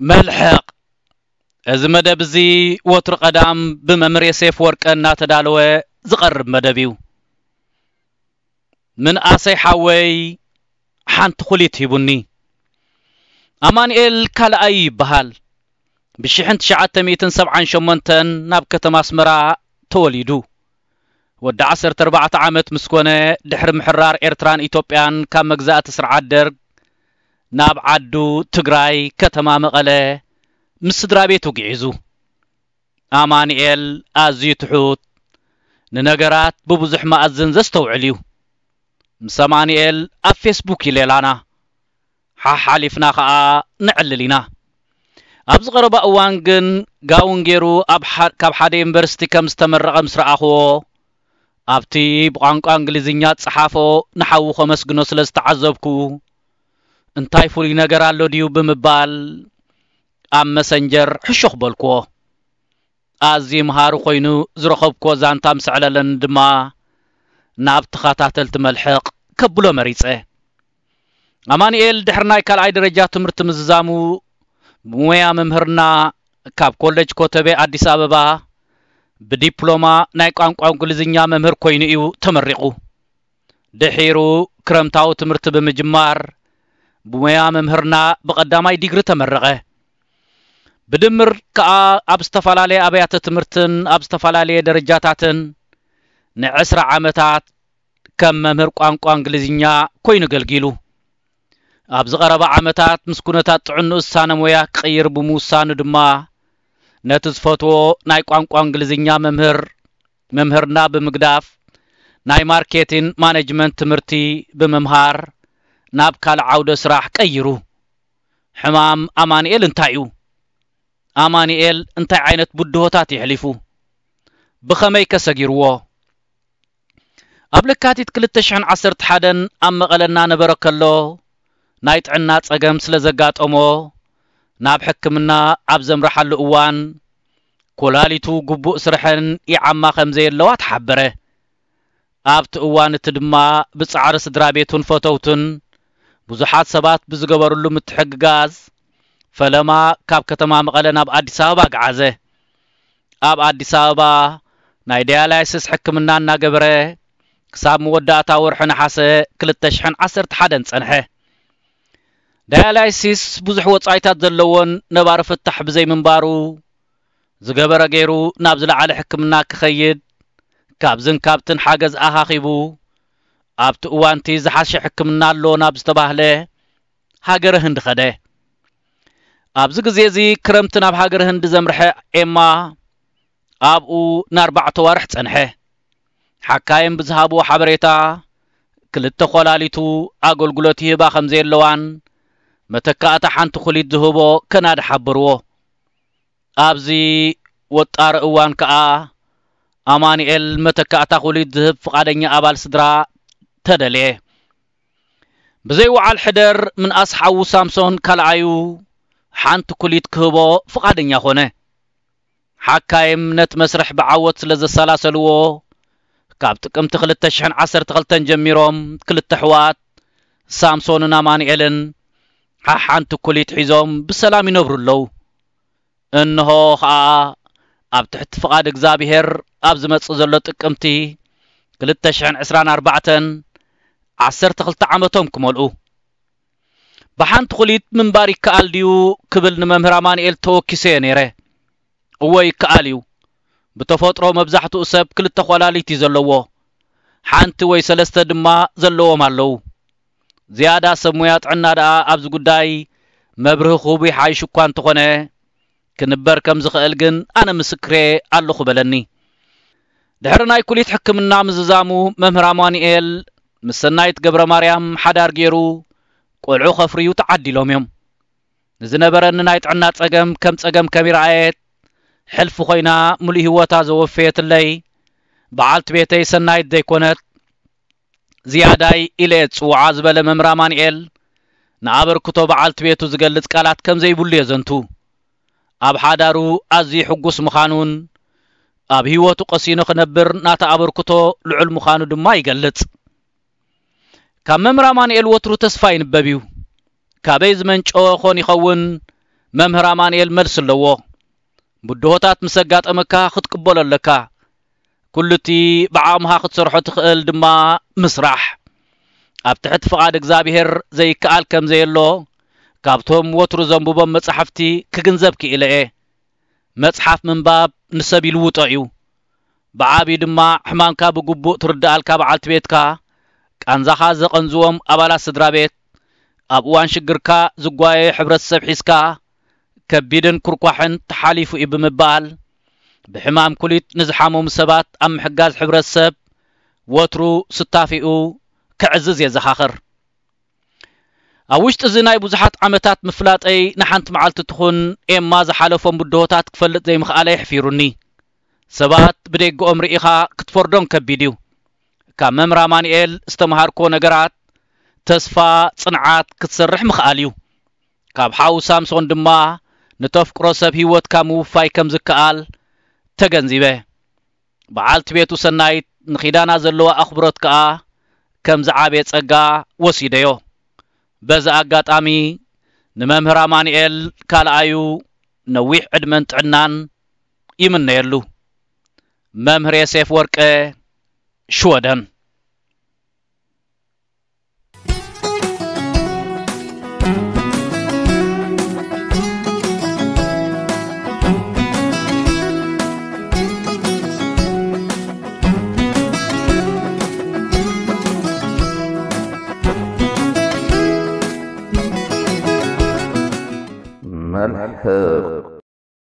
መልሕቕ። እዚ መደብ እዚ ወትሩ ቀዳም ብመምህር የሴፍ ወርቀ እናተዳለወ ዝቐርብ መደብ እዩ። ምንኣሰይ ሓወይ ሓንቲ ኩሊት ሂቡኒ። ኣማንኤል ካልኣይ ይበሃል። ብ1978 ናብ ከተማ ኣስመራ ተወሊዱ። ወዲ 14 ዓመት ምስ ኮነ፣ ድሕሪ ምሕራር ኤርትራን ኢትዮጵያን ካብ መግዛእቲ ስርዓት ደርግ፣ ናብ ዓዱ ትግራይ ከተማ መቐለ ምስ ስድራ ቤቱ ግዒዙ። ኣማንኤል ኣዝዩ ትሑት፣ ንነገራት ብብዙሕ መኣዝን ዘስተውዕል እዩ። ምስ ኣማንኤል ኣብ ፌስቡክ ይሌላና፣ ሓሓሊፍና ኸኣ ነዕልል ኢና። ኣብዚ ቀረባ እዋን ግን ጋውን ገይሩ ኣብ ካ- ካብ ሓደ ዩኒቨርሲቲ ከም ዝተመረቐ ምስ ረኣኽዎ፣ ኣብቲ ብቋንቋ እንግሊዝኛ ዝጸሓፎ ንሓዉ ከመስግኖ ስለ ዝተዓዘብኩ፣ እንታይ ፍሉይ ነገር ኣሎ ድዩ ብምባል ኣብ መሰንጀር ሕሹኽ በልክዎ። ኣዝዩ መሃሪ ኮይኑ ዝረኸብክዎ ዛንታ ምስ ኣዕለለኒ ድማ፣ ናብ ተኸታተልቲ መልሕቕ ከብሎ መሪጸ። ኣማንኤል ድሕሪ ናይ ካልኣይ ደረጃ ትምህርቲ ምዝዛሙ፣ ብሞያ መምህርና ካብ ኮሌጅ ኮተቤ ኣዲስ ኣበባ ብዲፕሎማ ናይ ቋንቋ እንግሊዝኛ መምህር ኮይኑ እዩ ተመሪቑ። ድሒሩ ክረምታዊ ትምህርቲ ብምጅማር፣ ብሞያ መምህርና ብቐዳማይ ዲግሪ ተመረቐ። ብድምር ከኣ ኣብ ዝተፈላለየ ኣብያተ ትምህርትን ኣብ ዝተፈላለየ ደረጃታትን ንዕስራ ዓመታት ከም መምህር ቋንቋ እንግሊዝኛ ኮይኑ ኣገልጊሉ። ኣብዚ ቀረባ ዓመታት ምስ ኩነታት ጥዕንኡ ዝሳነ ሞያ ክቕይር ብምውሳኑ ድማ፣ ነቲ ዝፈትዎ ናይ ቋንቋ እንግሊዝኛ መምህር መምህርና ብምግዳፍ፣ ናይ ማርኬቲን ማኔጅመንት ትምህርቲ ብምምሃር ናብ ካልእ ዓውደ ስራሕ ቀይሩ። ሕማም ኣማንኤል እንታይ እዩ? ኣማንኤል እንታይ ዓይነት ብድሆታት የሕሊፉ? ብኸመይ ከ ሰጊርዎ? ኣብ ለካቲት 2011 ኣብ መቐለ እናነበረ ከሎ፣ ናይ ጥዕና ጸገም ስለ ዘጋጠሞ፣ ናብ ሕክምና ኣብ ዘምርሓሉ እዋን፣ ኮላሊቱ ግቡእ ስርሐን ይዓማ ከም ዘየለዋ ተሓበረ። ኣብቲ እዋን እቲ ድማ ብጻዕሪ ስድራ ቤቱን ፈተውቱን፣ ብዙሓት ሰባት ብዝገበርሉ ምትሕግጋዝ፣ ፈለማ ካብ ከተማ መቐለ ናብ ኣዲስ ኣበባ ገዓዘ። ኣብ ኣዲስ ኣበባ ናይ ዳያላይሲስ ሕክምና እናገበረ፣ ክሳብ መወዳእታ ወርሒ ነሓሰ 2011 ጸንሐ። ዳያላይሲስ ብዙሕ ወጻኢታት ዘለዎን ነባሪ ፍታሕ ብዘይምንባሩ፣ ዝገበረ ገይሩ ናብ ዝለዓለ ሕክምና ክኸይድ፣ ካብዝን ካብትን ሓገዝ ኣኻኺቡ፣ ኣብቲ እዋንቲ ዝሓሸ ሕክምና ኣሎ ናብ ዝተባህለ ሃገረ ህንዲ ኸደ። ኣብዚ ግዜ እዚ ክረምቲ ናብ ሃገረ ህንዲ ዘምርሐ ኤማ፣ ኣብኡ ንኣርባዕተ ዋርሕ ጸንሐ። ሓካይም ብዝሃብዎ ሓበሬታ፣ ክልተ ኮላሊቱ ኣገልግሎት ይህባ ከም ዘየለዋን፣ መተካእታ ሓንቲ ኩሊት ዝህቦ ከናዲ ሓበርዎ። ኣብዚ ወጣሪ እዋን ከኣ፣ ኣማኑኤል መተካእታ ኩሊት ዝህብ ፍቓደኛ ኣባል ስድራ ተደልየ። ብዘይ ወዓል ሕደር፣ ምንኣስ ሓዉ ሳምሶን ካልኣዩ ሓንቲ ኩሊት ክህቦ ፍቓደኛ ኾነ። ሓካይም ነቲ መስርሕ ብዓወት ስለ ዘሰላሰልዎ፣ ካብ ጥቅምቲ 2012 ጀሚሮም ክልተ ኣሕዋት ሳምሶንን ኣማኑኤልን ሓሓንቲ ኩሊት ሒዞም ብሰላም ይነብሩ ኣለዉ። እንሆ ኸኣ ኣብ ትሕቲ ፍቓድ እግዚኣብሄር ኣብ ዝመጽእ ዘሎ ጥቅምቲ 2024 12 ዓመቶም ክመልኡ። ብሓንቲ ኩሊት ምንባር ይከኣል ድዩ ክብል ንመምህር ኣማኑኤል ተወኪሰዮ ነይረ። እወ ይከኣል እዩ። ብተፈጥሮ መብዛሕትኡ ሰብ ክልተ ኳላሊት እዩ ዘለዎ። ሓንቲ ወይ ሰለስተ ድማ ዘለዎም ኣለዉ። ዝያዳ ሰብ ሞያ ጥዕና ደኣ ኣብዚ ጉዳይ መብርሂ ክህቡ ይሓይሽ እኳ እንተኾነ፣ ክንበር ከም ዝኽእል ግን ኣነ ምስክሬ ኣለኹ በለኒ። ድሕሪ ናይ ኩሊት ሕክምና ምዝዛሙ መምህር ኣማኑኤል ምስ ሰናይት ገብረ ማርያም ሓዳር ገይሩ ቆልዑ ከፍርዩ ተዓዲሎም እዮም። ንዝነበረኒ ናይ ጥዕና ጸገም ከም ጸገም ከሚረኣየት፣ ሕልፊ ኮይና ምሉእ ህይወታ ዘወፈየትለይ በዓልቲ ቤተይ ሰናይት ዘይኮነት፣ ዝያዳይ ኢለ እየ ዝጽውዓ ዝበለ መምህር ኣማኑኤል፣ ንኣበርክቶ በዓልቲ ቤቱ ዝገልጽ ቃላት ከም ዘይብሉ የዘንቱ። ኣብ ሓዳሩ ኣዝዩ ሕጉስ ምዃኑን፣ ኣብ ህይወቱ ቀሲኑ ክነብር ናታ ኣበርክቶ ልዑል ምዃኑ ድማ ይገልጽ። ካብ መምህር ኣማኑኤል ወትሩ ተስፋ ይንበብ እዩ። ካበይ ዝመንጨወ ኾን ይኸውን? መምህር ኣማንኤል መልሲ ኣለዎ። ብድሆታት ምስ ኣጋጠመካ ክትቅበሎ ኣለካ። ኩሉ እቲ ብዓቕምኻ ክትሰርሖ ትኽእል ድማ ምስራሕ። ኣብ ትሕቲ ፍቓድ እግዚኣብሔር ዘይከኣል ከም ዘየሎ ካብቶም ወትሩ ዘንብቦም መጻሕፍቲ ክግንዘብ ክኢለ እየ። መጽሓፍ ምንባብ ንሰብ ይልውጦ እዩ። ብዓብዩ ድማ ሕማምካ ብግቡእ ትርድኣልካ በዓልቲ ቤትካ፣ ቃንዛኻ ዘቐንዝዎም ኣባላት ስድራ ቤት፣ ኣብ እዋን ሽግርካ ዝጓየ ሕብረተሰብ ሒዝካ፣ ከቢድን ኩርኳሕን ተሓሊፉ እዩ ብምባል፣ ብሕማም ኩሊት ንዝሓመሙ ሰባት ኣብ ምሕጋዝ ሕብረተሰብ ወትሩ ስታፊኡ ከዕዝዝ የዘኻኽር። ኣብ ውሽጢ እዚ ናይ ብዙሓት ዓመታት ምፍላጠይ ንሓንቲ መዓልቲ ትኹን ኤማ ዝሓለፎም ብድሆታት ክፈልጥ ዘይምኽኣለ የሕፊሩኒ። ሰባት ብደገኦም ርኢኻ ክትፈርዶም ከቢድ እዩ። ካብ መምህር ኣማኑኤል ዝተምሃርኮ ነገራት ተስፋ፣ ጽንዓት ክትሰርሕ ምኽኣል እዩ። ካብ ሓው ሳምሶን ድማ ንተፍቅሮ ሰብ ህይወትካ ምውፋይ ከም ዝከኣል ተገንዚበ። በዓልቲ ቤቱ ሰናይት ንኺዳና ዘለዋ ኣኽብሮት ከኣ ከም ዝዓበየ ጸጋ ወሲደዮ። በዚ ኣጋጣሚ ንመምህር ኣማኑኤል ካልኣዩ ነዊሕ ዕድመን ጥዕናን ይምነየሉ። መምህር የሴፍ ወርቀ፣ ሽወደን። መልሕቕ